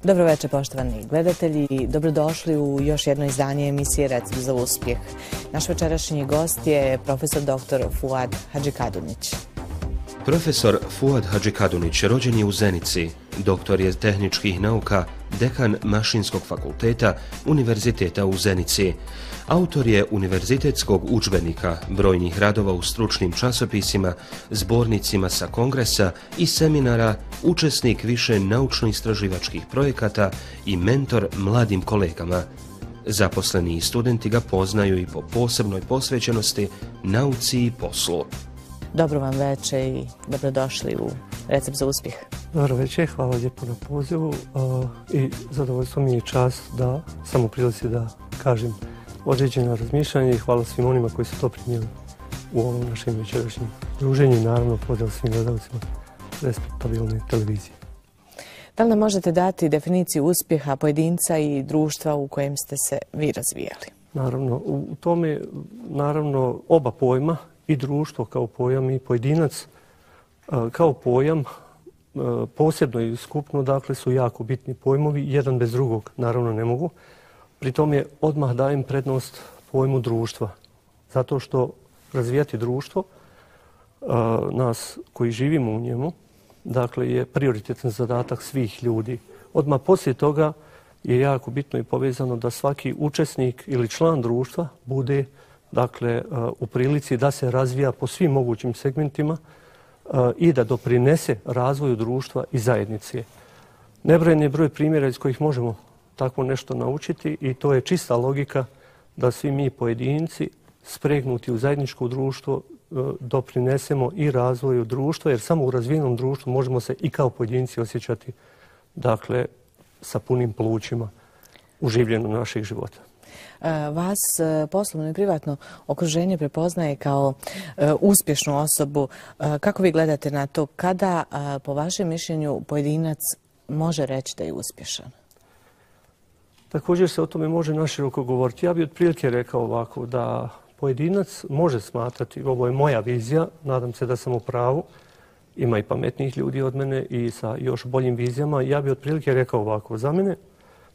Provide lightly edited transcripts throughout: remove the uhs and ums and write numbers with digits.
Dobro večer, poštovani gledatelji. Dobrodošli u još jedno izdanje emisije Recept za uspjeh. Naš večerašnji gost je profesor dr. Fuad Hadžikadunić. Profesor Fuad Hadžikadunić rođen je u Zenici, doktor je tehničkih nauka, dekan Mašinskog fakulteta Univerziteta u Zenici. Autor je univerzitetskog udžbenika, brojnih radova u stručnim časopisima, zbornicima sa kongresa i seminara, učesnik više naučno-istraživačkih projekata i mentor mladim kolegama. Zaposleni i studenti ga poznaju i po posebnoj posvećenosti nauci i poslu. Dobro vam večer i dobrodošli u Recept za uspjeh. Dobro večer, hvala lijepo na pozivu i zadovoljstvo mi je čast da sam u prilici da kažem određena razmišljanja i hvala svim onima koji su to primjeli u ovom našem večerašnjem druženju i naravno pozdrav svim gledalcima respektabilne televizije. Da li nam možete dati definiciju uspjeha pojedinca i društva u kojem ste se vi razvijali? Naravno, u tome naravno oba pojma, i društvo kao pojam i pojedinac kao pojam, posebno i skupno, dakle, su jako bitni pojmovi, jedan bez drugog naravno ne mogu. Pri tome odmah dajem prednost pojmu društva, zato što razvijati društvo, nas koji živimo u njemu, dakle, je prioritetan zadatak svih ljudi. Odmah poslije toga je jako bitno i povezano da svaki učesnik ili član društva bude, dakle, u prilici da se razvija po svim mogućim segmentima i da doprinese razvoju društva i zajednice. Nebrojen je broj primjera iz kojih možemo tako nešto naučiti i to je čista logika da svi mi pojedinci spregnuti u zajedničko društvo doprinesemo i razvoju društva, jer samo u razvijenom društvu možemo se i kao pojedinci osjećati, dakle, sa punim plućima u življenju naših života. Vas poslovno i privatno okruženje prepoznaje kao uspješnu osobu. Kako vi gledate na to? Kada, po vašem mišljenju, pojedinac može reći da je uspješan? Također se o tome može naširoko govoriti. Ja bih otprilike rekao ovako, da pojedinac može smatrati, ovo je moja vizija, nadam se da sam u pravu, ima i pametnijih ljudi od mene i sa još boljim vizijama, ja bih otprilike rekao ovako, za mene,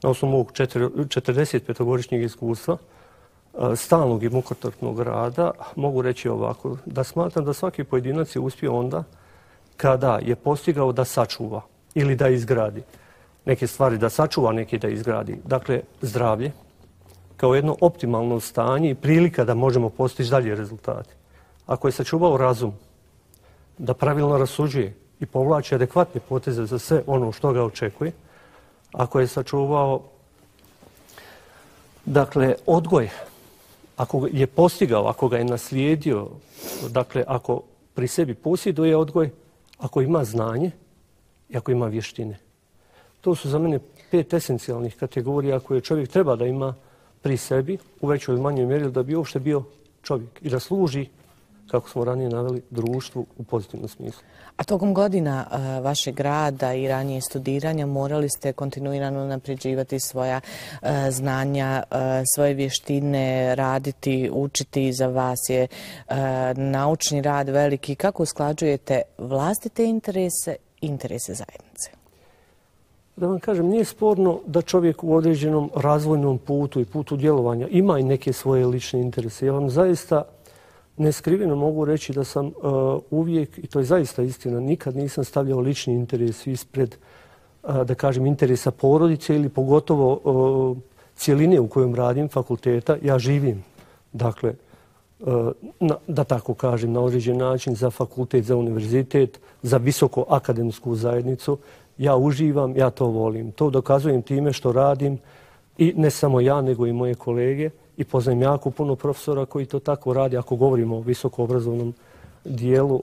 na osnovu mog 45-godišnjeg iskustva, stalnog i mukotrpnog rada, mogu reći ovako, da smatram da svaki pojedinac je uspio onda kada je postigao da sačuva ili da izgradi neke stvari, da sačuva, neke da izgradi. Dakle, zdravlje kao jedno optimalno stanje i prilika da možemo postići dalje rezultate. Ako je sačuvao razum, da pravilno rasuđuje i povlači adekvatne poteze za sve ono što ga očekuje, ako je sačuvao, dakle, odgoj, ako je postigao, ako ga je naslijedio, dakle, ako pri sebi posjeduje odgoj, ako ima znanje i ako ima vještine. To su za mene 5 esencijalnih kategorija koje čovjek treba da ima pri sebi u većoj ili manjoj mjeri da bi uopšte bio čovjek i da služi, kako smo ranije naveli, društvu u pozitivnom smislu. A tokom godina vašeg rada i ranije studiranja morali ste kontinuirano napređivati svoja znanja, svoje vještine, raditi, učiti. Za vas je naučni rad veliki. Kako usklađujete vlastite interese i interese zajednice? Da vam kažem, nije sporno da čovjek u određenom razvojnom putu i putu djelovanja ima i neke svoje lične interese. Ja vam zaista neskriveno mogu reći da sam uvijek, i to je zaista istina, nikad nisam stavljao lični interes ispred, da kažem, interesa porodice ili pogotovo cjeline u kojoj radim, fakulteta. Ja živim, dakle, da tako kažem, na određen način za fakultet, za univerzitet, za visoko akademsku zajednicu. Ja uživam, ja to volim. To dokazujem time što radim i ne samo ja, nego i moje kolege. I poznajem jako puno profesora koji to tako radi, ako govorimo o visokoobrazovnom dijelu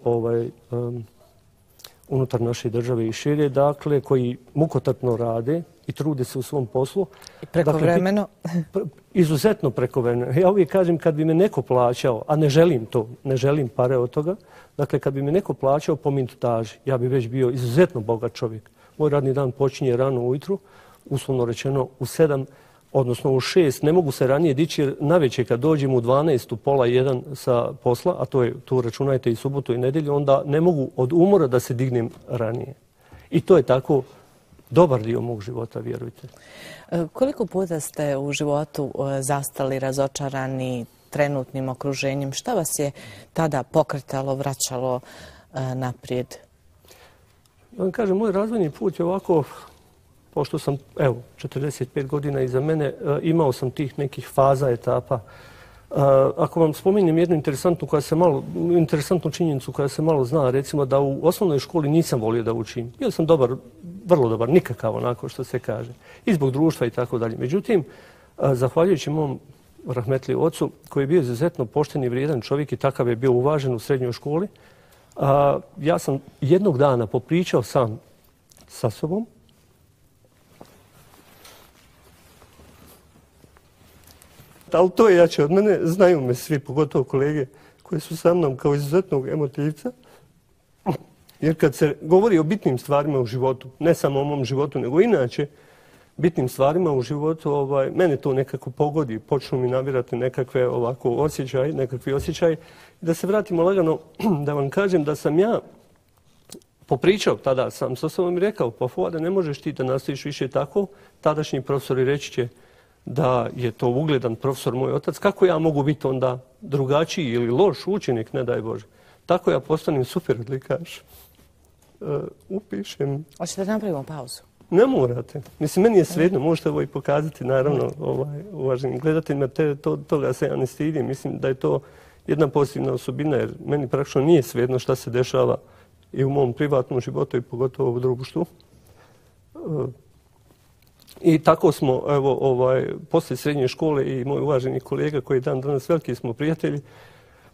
unutar naše države i šire, dakle, koji mukotrpno rade i trude se u svom poslu. I prekovremeno? Dakle, izuzetno prekovremeno. Ja uvijek kažem, kad bi me neko plaćao, a ne želim to, ne želim pare od toga, dakle, kad bi me neko plaćao po minutaži, ja bi već bio izuzetno bogat čovjek. Moj radni dan počinje rano ujutru, uslovno rečeno u 7, odnosno u 6, ne mogu se ranije dići jer navečer kad dođem u 12, u pola 1 sa posla, a to je, tu računajte i subotu i nedjelju, onda ne mogu od umora da se dignem ranije. I to je tako dobar dio mog života, vjerujte. Koliko puta ste u životu zastali razočarani trenutnim okruženjem? Šta vas je tada pokretalo, vraćalo naprijed? Da vam kažem, moj razvojni put je ovako, pošto sam, 45 godina iza mene, imao sam tih nekih faza, etapa. Ako vam spominjem jednu interesantnu činjenicu koja se malo zna, recimo da u osnovnoj školi nisam volio da učim. Bio sam dobar, vrlo dobar, nikakav onako što se kaže. I zbog društva i tako dalje. Međutim, zahvaljujući mom rahmetli ocu, koji je bio izuzetno pošten i vrijedan čovjek i takav je bio uvažen u srednjoj školi, ja sam jednog dana popričao sam sa sobom. Ali to je jače od mene, znaju me svi, pogotovo kolege koji su sa mnom kao izuzetnog emotivca. Jer kad se govori o bitnim stvarima u životu, ne samo o mom životu, nego inače bitnim stvarima u životu, mene to nekako pogodi, počnu mi nabirati nekakvi osjećaji. Da se vratimo lagano, da vam kažem da sam ja popričao tada sam sa sobom i rekao, pa Fuade, ne možeš ti da nastaviš više tako, tadašnji profesori reći će da je to ugledan profesor moj otac, kako ja mogu biti onda drugačiji ili loš učenik, ne daj Bože. Tako ja postanem super odlikaš. Upišem. Hoćete da napravimo pauzu? Ne morate. Mislim, meni je svejedno, možete ovo i pokazati, naravno, uvaženim gledateljima, toga se ja ne stidim. Mislim da je to jedna pozitivna osobina, jer meni praktično nije svejedno šta se dešava i u mom privatnom životu i pogotovo u društvu. I tako smo, poslije srednje škole i moj uvaženi kolega koji je dan danas veliki smo prijatelji,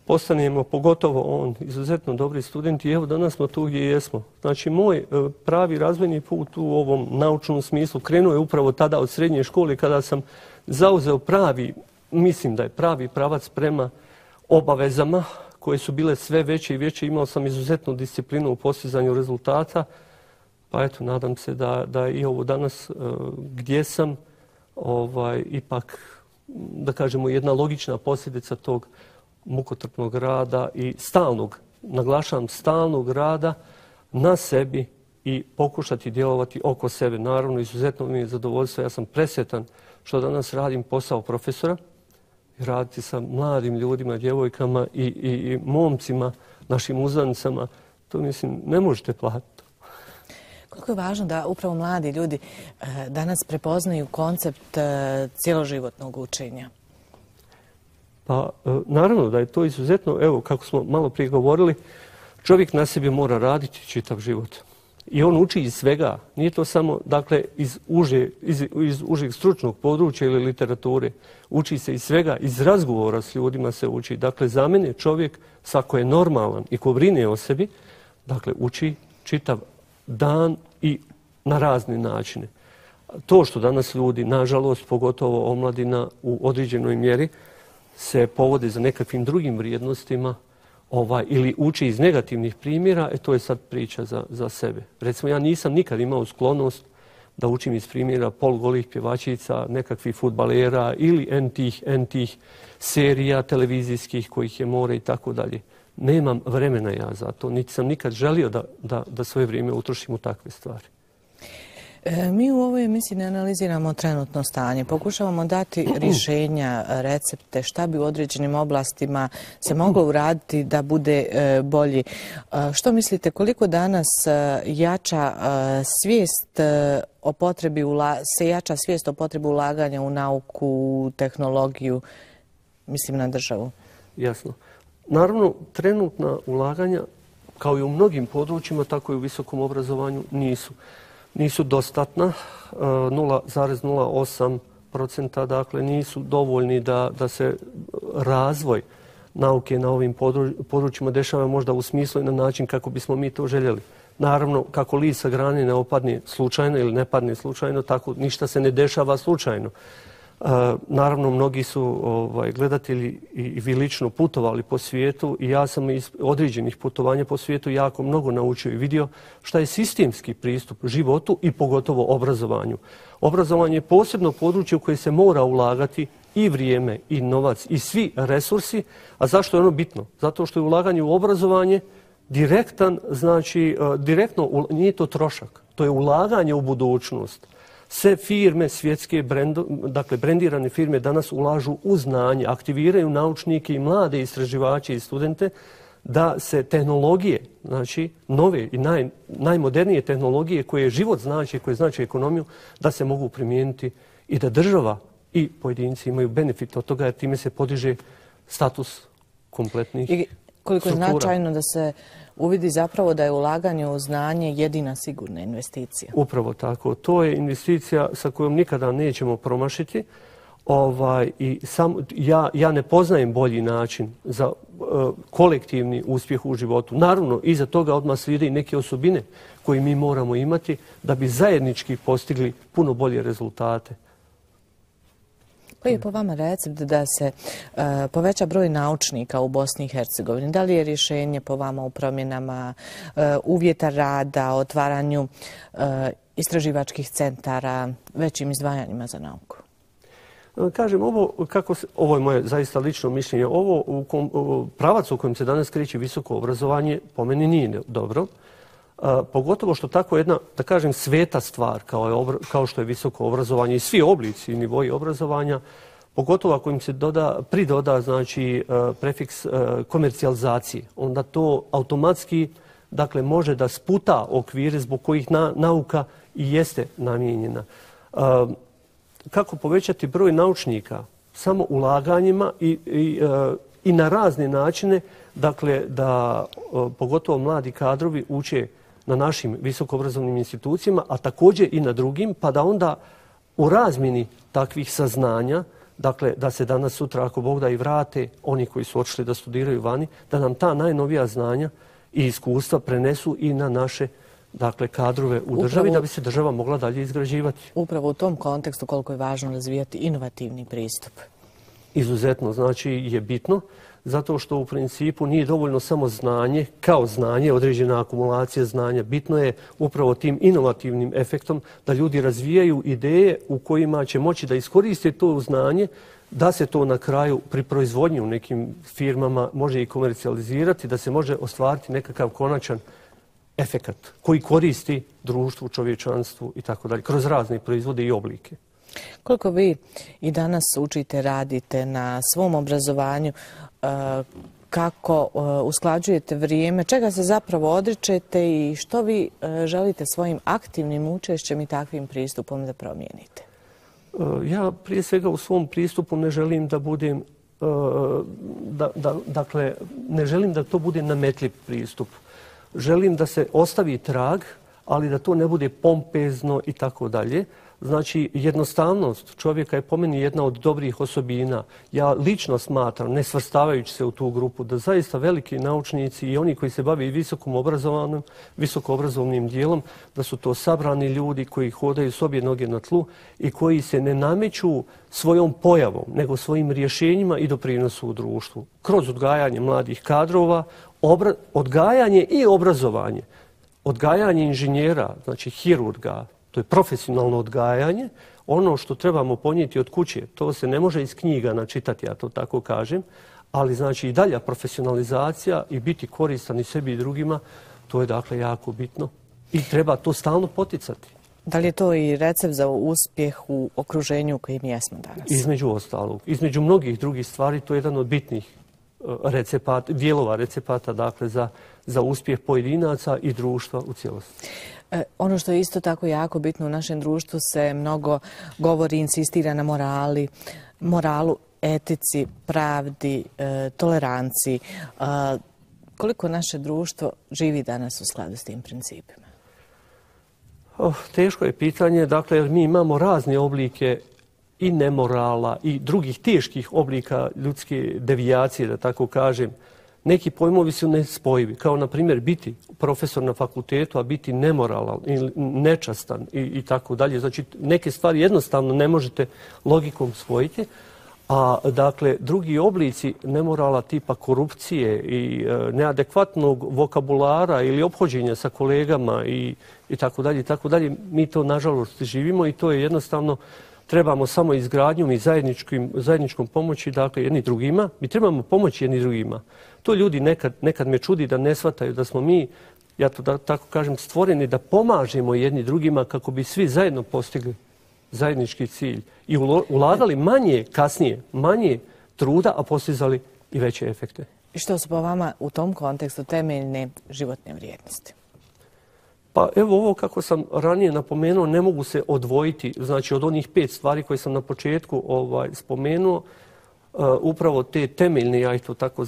postanemo, pogotovo on, izuzetno dobri studenti i evo danas smo tu gdje jesmo. Znači, moj pravi razvojni put u ovom naučnom smislu krenuo je upravo tada od srednje škole kada sam zauzeo mislim da je pravi pravac prema obavezama koje su bile sve veće i veće. Imao sam izuzetnu disciplinu u postizanju rezultata. Pa eto, nadam se da i ovo danas gdje sam, ipak, da kažemo, jedna logična posljedica tog mukotrpnog rada i naglašavam stalnog rada na sebi i pokušati djelovati oko sebe. Naravno, izuzetno mi je zadovoljstvo. Ja sam presretan što danas radim posao profesora i raditi sa mladim ljudima, djevojkama i momcima, našim uzanicama. To, mislim, ne možete platiti. Koliko je važno da upravo mladi ljudi danas prepoznaju koncept cjeloživotnog učenja? Pa naravno da je to izuzetno, evo kako smo malo prije govorili, čovjek na sebi mora raditi čitav život. I on uči iz svega. Nije to samo, dakle, iz užeg stručnog područja ili literature. Uči se iz svega, iz razgovora s ljudima se uči. Dakle, za mene čovjek, svako je normalan i ko brine o sebi, dakle, uči čitav dan i na razne načine. To što danas ljudi, nažalost, pogotovo omladina u određenoj mjeri, se povode za nekakvim drugim vrijednostima ili uči iz negativnih primjera, to je sad priča za sebe. Recimo, ja nisam nikad imao sklonost da učim iz primjera polugolih pjevačica, nekakvih fudbalera ili entih serija televizijskih kojih je more i tako dalje. Nemam vremena ja za to, niti sam nikad želio da svoje vrijeme utrošim u takve stvari. Mi u ovoj emisiji ne analiziramo trenutno stanje, pokušavamo dati rješenja, recepte, šta bi u određenim oblastima se moglo uraditi da bude bolji. Što mislite, koliko danas jača svijest o potrebi ulaganja u nauku, tehnologiju, mislim na državu? Jasno. Naravno, trenutna ulaganja, kao i u mnogim područjima, tako i u visokom obrazovanju, nisu dostatna, 0,08%, dakle nisu dovoljni da se razvoj nauke na ovim područjima dešava možda u smislu i na način kako bismo mi to željeli. Naravno, kako list sa grane ne opadne slučajno ili ne padne slučajno, tako ništa se ne dešava slučajno. Naravno, mnogi su gledatelji i vi lično putovali po svijetu i ja sam iz određenih putovanja po svijetu jako mnogo naučio i vidio šta je sistemski pristup životu i pogotovo obrazovanju. Obrazovanje je posebno područje u koje se mora ulagati i vrijeme i novac i svi resursi. A zašto je ono bitno? Zato što je ulaganje u obrazovanje direktno, nije to trošak. To je ulaganje u budućnost. Sve firme, svjetske dakle brendirane firme danas ulažu u znanje, aktiviraju naučnike i mlade istraživače i studente da se tehnologije, znači nove i najmodernije tehnologije koje život znači, koje znači ekonomiju, da se mogu primijeniti i da država i pojedinci imaju benefit od toga jer time se podiže status kompletnih struktura. I koliko je značajno da se uvidi zapravo da je ulaganje u znanje jedina sigurna investicija. Upravo tako. To je investicija sa kojom nikada nećemo promašiti. Ja ne poznajem bolji način za kolektivni uspjeh u životu. Naravno, iza toga odmah slijede i neke osobine koje mi moramo imati da bi zajednički postigli puno bolje rezultate. Koji je po vama recept da se poveća broj naučnika u Bosni i Hercegovini? Da li je rješenje po vama u promjenama uvjeta rada, otvaranju istraživačkih centara, većim izdvajanjima za nauku? Kažem, ovo je moje zaista lično mišljenje. Pravac u kojem se danas kreće visoko obrazovanje po meni nije dobro. Pogotovo što tako jedna, da kažem, sveta stvar kao što je visoko obrazovanje i svi oblici i nivoji obrazovanja, pogotovo ako im se pridoda znači, prefiks komercijalizacije, onda to automatski dakle, može da sputa okvire zbog kojih nauka i jeste namijenjena. Kako povećati broj naučnika? Samo ulaganjima i na razne načine, dakle, da pogotovo mladi kadrovi uče na našim visokoobrazovnim institucijama, a također i na drugim, pa da onda u razmjeni takvih saznanja, dakle, da se danas sutra, ako Bog da, i vrate oni koji su otišli da studiraju vani, da nam ta najnovija znanja i iskustva prenesu i na naše dakle, kadrove u državi da bi se država mogla dalje izgrađivati. Upravo u tom kontekstu koliko je važno razvijati inovativni pristup. Izuzetno, znači je bitno, zato što u principu nije dovoljno samo znanje, kao znanje, određena akumulacija znanja. Bitno je upravo tim inovativnim efektom da ljudi razvijaju ideje u kojima će moći da iskoriste to znanje, da se to na kraju pri proizvodnji u nekim firmama može i komercijalizirati, da se može ostvariti nekakav konačan efekat koji koristi društvu, čovječanstvu i tako dalje, kroz razne proizvode i oblike. Koliko vi i danas učite, radite na svom obrazovanju, kako usklađujete vrijeme, čega se zapravo odričete i što vi želite svojim aktivnim učešćem i takvim pristupom da promijenite? Ja prije svega u svom pristupu ne želim da budem, dakle, ne želim da to bude nametljiv pristup. Želim da se ostavi trag, ali da to ne bude pompezno i tako dalje. Znači, jednostavnost čovjeka je po meni jedna od dobrih osobina. Ja lično smatram, ne svrstavajući se u tu grupu, da zaista veliki naučnici i oni koji se bave visokoobrazovnim dijelom, da su to sabrani ljudi koji hodaju s obje noge na tlu i koji se ne nameću svojom pojavom, nego svojim rješenjima i doprinosu u društvu. Kroz odgajanje mladih kadrova, odgajanje i obrazovanje. Odgajanje inženjera, znači hirurga, to je profesionalno odgajanje. Ono što trebamo ponijeti od kuće, to se ne može iz knjiga načitati, ja to tako kažem, ali znači i dalja profesionalizacija i biti koristan i sebi i drugima, to je dakle jako bitno i treba to stalno poticati. Da li je to i recept za uspjeh u okruženju u kojem jesmo danas? Između ostalog. Između mnogih drugih stvari, to je jedan od bitnih dijelova recepata dakle, za uspjeh pojedinaca i društva u cijelosti. Ono što je isto tako jako bitno u našem društvu se mnogo govori, insistira na moralu, etici, pravdi, toleranciji. Koliko naše društvo živi danas u skladu s tim principima? Teško je pitanje, dakle, jer mi imamo razne oblike i nemorala i drugih teških oblika ljudske devijacije, da tako kažem. Neki pojmovi su nespojivi, kao na primjer biti profesor na fakultetu, a biti nemoralan ili nečastan i tako dalje. Znači, neke stvari jednostavno ne možete logikom spojiti, a dakle, drugi oblici nemorala tipa korupcije i neadekvatnog vokabulara ili ophođenja sa kolegama i tako dalje, mi to nažalost živimo i to je jednostavno trebamo samo izgradnjom i zajedničkom pomoći, dakle, jedni drugima. Mi trebamo pomoći jedni drugima. To ljudi nekad me čudi da ne shvataju da smo mi ja to da tako kažem, stvoreni da pomažemo jedni drugima kako bi svi zajedno postigli zajednički cilj i ulagali manje truda, a postizali i veće efekte. I što su po vama u tom kontekstu temeljne životne vrijednosti? Pa evo ovo kako sam ranije napomenuo, ne mogu se odvojiti, znači od onih 5 stvari koje sam na početku spomenuo, upravo te temeljne, ja ih to tako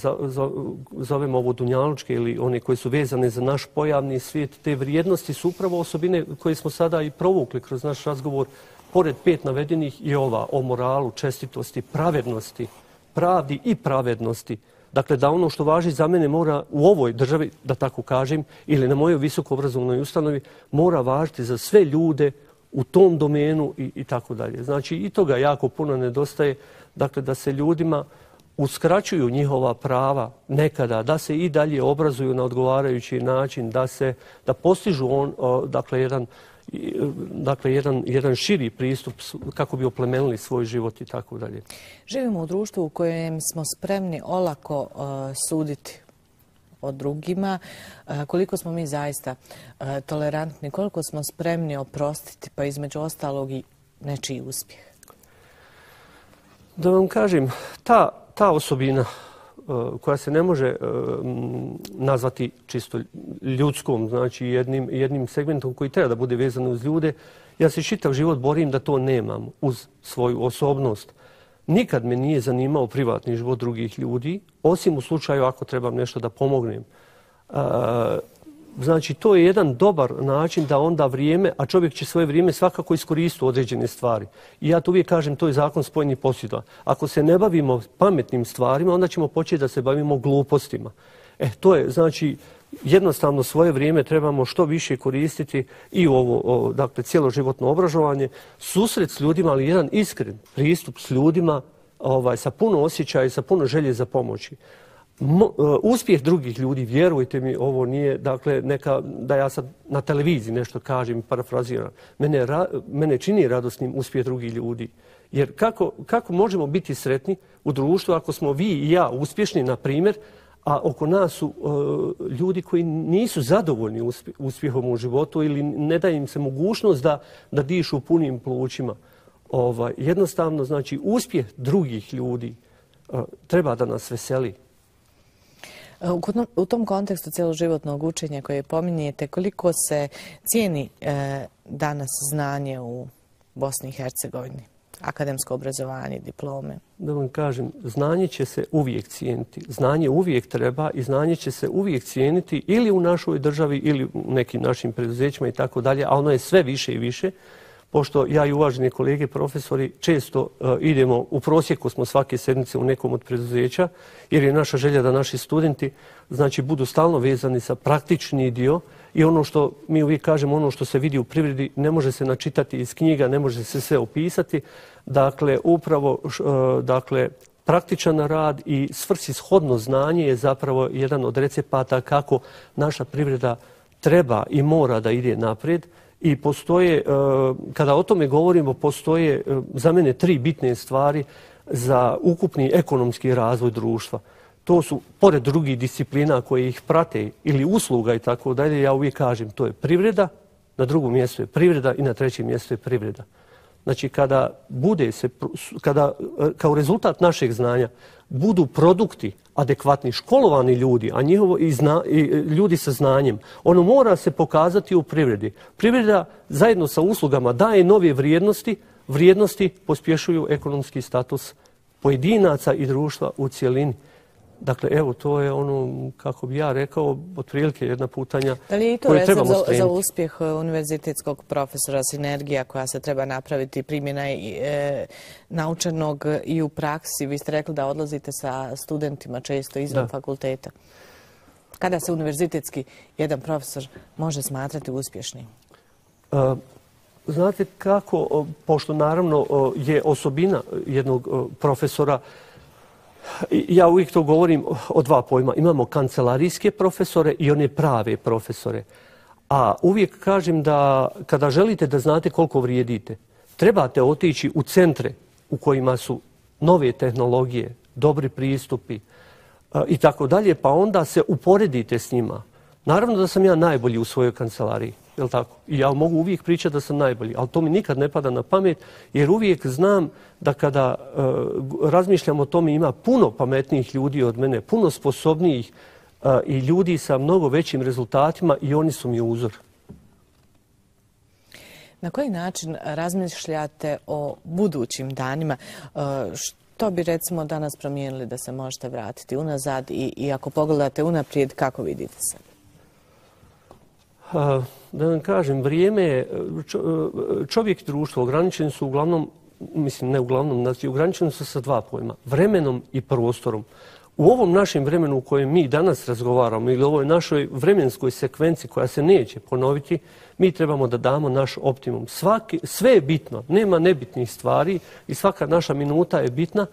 zovem ovo dunjalučke ili one koje su vezane za naš pojavni svijet, te vrijednosti su upravo osobine koje smo sada i provukli kroz naš razgovor, pored 5 navedenih i ova o moralu, čestitosti, pravednosti, pravdi i pravednosti. Dakle, da ono što važi za mene mora u ovoj državi, da tako kažem, ili na mojoj visokoobrazovnoj ustanovi, mora važiti za sve ljude u tom domenu i tako dalje. Znači, i toga jako puno nedostaje, dakle, da se ljudima uskraćuju njihova prava nekada, da se i dalje obrazuju na odgovarajući način, da postižu jedan širi pristup kako bi oplemenili svoj život i tako dalje. Živimo u društvu u kojem smo spremni olako suditi o drugima. Koliko smo mi zaista tolerantni, koliko smo spremni oprostiti, pa između ostalog i nečiji uspjeh? Da vam kažem, ta osobina koja se ne može nazvati čisto ljudskom, znači jednim segmentom koji treba da bude vezan uz ljude, ja se čitav život borim da to nemam uz svoju osobnost. Nikad me nije zanimao privatni život drugih ljudi, osim u slučaju ako trebam nešto da pomognem. Znači, to je jedan dobar način da onda vrijeme, a čovjek će svoje vrijeme svakako iskoristiti u određene stvari. I ja to uvijek kažem, to je zakon spojenih posljedica. Ako se ne bavimo pametnim stvarima, onda ćemo početi da se bavimo glupostima. To je, znači, jednostavno svoje vrijeme trebamo što više koristiti i u ovo, dakle, cjeloživotno obrazovanje, susret s ljudima, ali jedan iskren pristup s ljudima sa puno osjećaja i sa puno želje za pomoći. Uspjeh drugih ljudi, vjerujte mi, ovo nije, dakle, da ja sad na televiziji nešto kažem i parafraziram. Mene čini radosnim uspjeh drugih ljudi. Jer kako možemo biti sretni u društvu ako smo vi i ja uspješni, na primjer, a oko nas su ljudi koji nisu zadovoljni uspjehom u životu ili ne daje im se mogućnost da dišu punim plućima. Jednostavno, znači, uspjeh drugih ljudi treba da nas veseli. U tom kontekstu cjeloživotnog učenja koje pominjete, koliko se cijeni danas znanje u Bosni i Hercegovini? Akademsko obrazovanje, diplome? Da vam kažem, znanje će se uvijek cijeniti. Znanje uvijek treba i znanje će se uvijek cijeniti ili u našoj državi ili u nekim našim preduzećima i tako dalje, a ono je sve više i više. Pošto ja i uvaženi kolege profesori često idemo, u prosjeku smo svake sedmice u nekom od preduzeća, jer je naša želja da naši studenti, znači, budu stalno vezani sa praktični dio i ono što mi uvijek kažemo, ono što se vidi u privredi ne može se načitati iz knjiga, ne može se sve opisati. Dakle, upravo praktičan rad i svrsishodno znanje je zapravo jedan od recepata kako naša privreda treba i mora da ide naprijed. I postoje, kada o tome govorimo, postoje za mene 3 bitne stvari za ukupni ekonomski razvoj društva. To su, pored drugih disciplina koje ih prate ili usluga i tako dalje, ja uvijek kažem, to je privreda, na drugom mjestu je privreda i na trećem mjestu je privreda. Znači, kada kao rezultat našeg znanja budu produkti adekvatni, školovani ljudi, a ljudi sa znanjem, ono mora se pokazati u privredi. Privreda zajedno sa uslugama daje nove vrijednosti, vrijednosti pospješuju ekonomski status pojedinaca i društva u cjelini. Dakle, evo, to je ono, kako bi ja rekao, otprilike jedna putanja koju trebamo spremiti. Da li je to recept za uspjeh univerzitetskog profesora, sinergija koja se treba napraviti, primjena naučenog i u praksi? Vi ste rekli da odlazite sa studentima često izvan fakulteta. Kada se univerzitetski jedan profesor može smatrati uspješnim? Znate kako, pošto naravno je osobina jednog profesora, ja uvijek to govorim o 2 pojma. Imamo kancelarijske profesore i one prave profesore. A uvijek kažem da kada želite da znate koliko vrijedite, trebate otići u centre u kojima su nove tehnologije, dobri pristupi i tako dalje, pa onda se uporedite s njima. Naravno da sam ja najbolji u svojoj kancelariji, jel tako? I ja mogu uvijek pričati da sam najbolji, ali to mi nikad ne pada na pamet, jer uvijek znam da kada razmišljam o tome ima puno pametnijih ljudi od mene, puno sposobnijih i ljudi sa mnogo većim rezultatima i oni su mi uzor. Na koji način razmišljate o budućim danima? Što bi recimo danas promijenili da se možete vratiti unazad i ako pogledate unaprijed, kako vidite se? Da vam kažem, vrijeme, čovjek i društvo ograničeni su uglavnom, mislim ne uglavnom, znači ograničeni su sa dva pojma, vremenom i prostorom. U ovom našem vremenu u kojem mi danas razgovaramo ili ovoj našoj vremenskoj sekvenciji koja se neće ponoviti, mi trebamo da damo naš optimum. Sve je bitno, nema nebitnih stvari i svaka naša minuta je bitna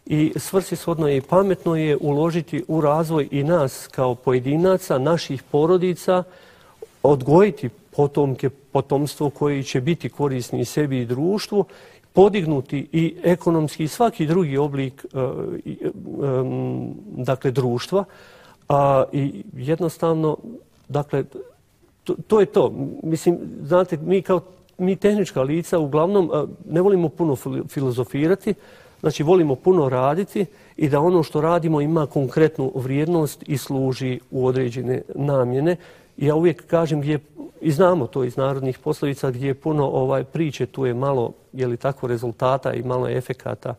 i svrsishodno je i pametno je uložiti u razvoj i nas kao pojedinaca, naših porodica, odgojiti potomke, potomstvo koji će biti korisni sebi i društvu, podignuti i ekonomski i svaki drugi oblik dakle, društva. I jednostavno, dakle, to je to. Mislim, znate, mi tehnička lica uglavnom ne volimo puno filozofirati, znači volimo puno raditi i da ono što radimo ima konkretnu vrijednost i služi u određene namjene. Ja uvijek kažem i znamo to iz narodnih poslovica gdje je puno priče, tu je malo tako rezultata i malo efekata.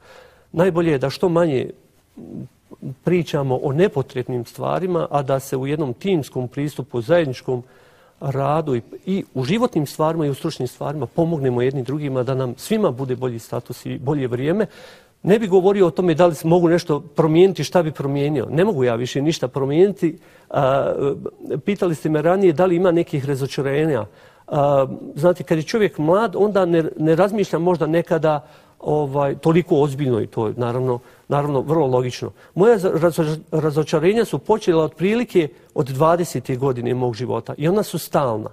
Najbolje je da što manje pričamo o nepotrebnim stvarima, a da se u jednom timskom pristupu, zajedničkom radu i u životnim stvarima i u stručnim stvarima pomognemo jedni drugima da nam svima bude bolji status i bolje vrijeme. Ne bi govorio o tome da li mogu nešto promijeniti, šta bi promijenio. Ne mogu ja više ništa promijeniti. Pitali ste me ranije da li ima nekih razočarenja. Znate, kad je čovjek mlad, onda ne razmišlja možda nekada toliko ozbiljno i to je naravno vrlo logično. Moja razočarenja su počela otprilike od 20. godine mog života i ona su stalna.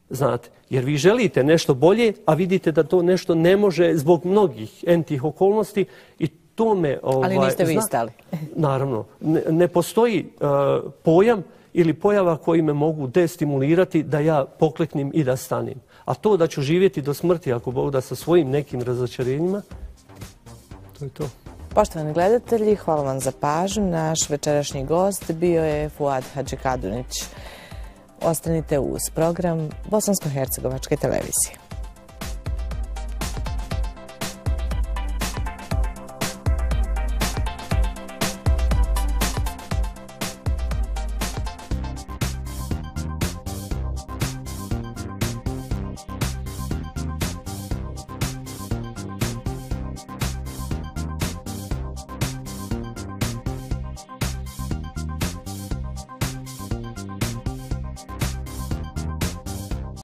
Znate, jer vi želite nešto bolje, a vidite da to nešto ne može zbog mnogih entih okolnosti i to me... Ali niste vi stali. Naravno. Ne postoji pojam ili pojava koji me mogu destimulirati da ja pokleknem i da stanem. A to da ću živjeti do smrti, ako Bog da, sa svojim nekim razočarenjima, to je to. Poštovani gledatelji, hvala vam za pažnju. Naš večerašnji gost bio je Fuad Hadžikadunić. Ostanite uz program Bosansko-hercegovačke televizije.